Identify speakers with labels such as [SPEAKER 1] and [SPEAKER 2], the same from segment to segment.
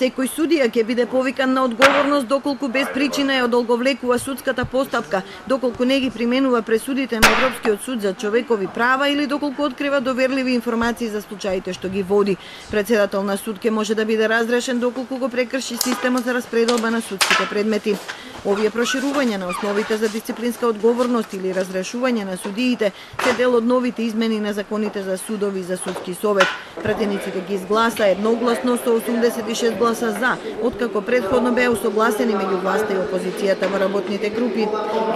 [SPEAKER 1] Секој судија ќе биде повикан на одговорност доколку без причина ја одолговлекува судската постапка, доколку не ги применува пресудите на Европскиот суд за човекови права или доколку открива доверливи информации за случаите што ги води. Председател на суд ќе може да биде разрешен доколку го прекрши системот за распределба на судските предмети. Овие проширувања на основите за дисциплинска одговорност или разрешување на судиите се дел од новите измени на законите за судови и за судски совет. Пратениците ги изгласа едногласно со 86 гласа за, откако претходно беа усогласени меѓу власта и опозицијата во работните групи.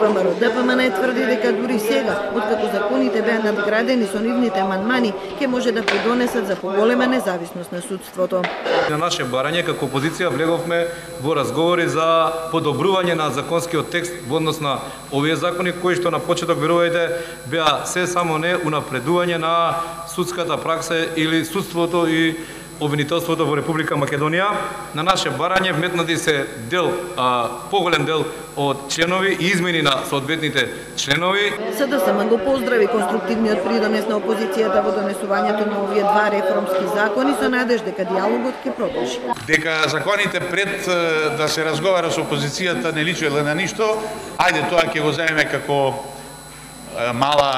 [SPEAKER 1] ВМРО-ДПМН тврди дека дури сега, откако законите беа надградени со нивните амандмани, ќе може да придонесат за поголема независност на судството.
[SPEAKER 2] На наше барање како опозиција влеговме во разговори за подобрување на законскиот текст во однос на овие закони кои што на почеток верувајте беа се само не унапредување на судската пракса или судството и обвинителството во Република Македонија. На наше барање вметнати се поголем дел од членови и измени на соодветните членови.
[SPEAKER 1] СДСМ го поздрави конструктивниот придонес на опозицијата во донесувањето на овие два реформски закони со надеж дека диалогот ќе продолжи.
[SPEAKER 3] Дека законите пред да се разговара со опозицијата не личеле на ништо, ајде тоа ќе го земеме како мала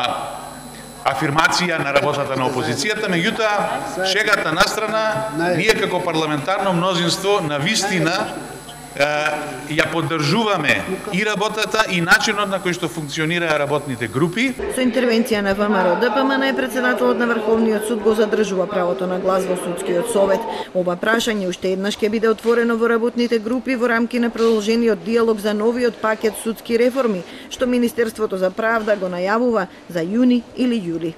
[SPEAKER 3] афирмација на работата на опозицијата, меѓутоа шегата настрана, ние како парламентарно мнозинство на вистина ја поддржуваме и работата и начинот на кој што функционираат работните групи.
[SPEAKER 1] Со интервенција на ВМРО-ДПМН председателот на Врховниот суд го задржува правото на глас во судскиот совет. Ова прашање уште еднаш ќе биде отворено во работните групи во рамки на продолжениот диалог за новиот пакет судски реформи, што Министерството за правда го најавува за јуни или јули.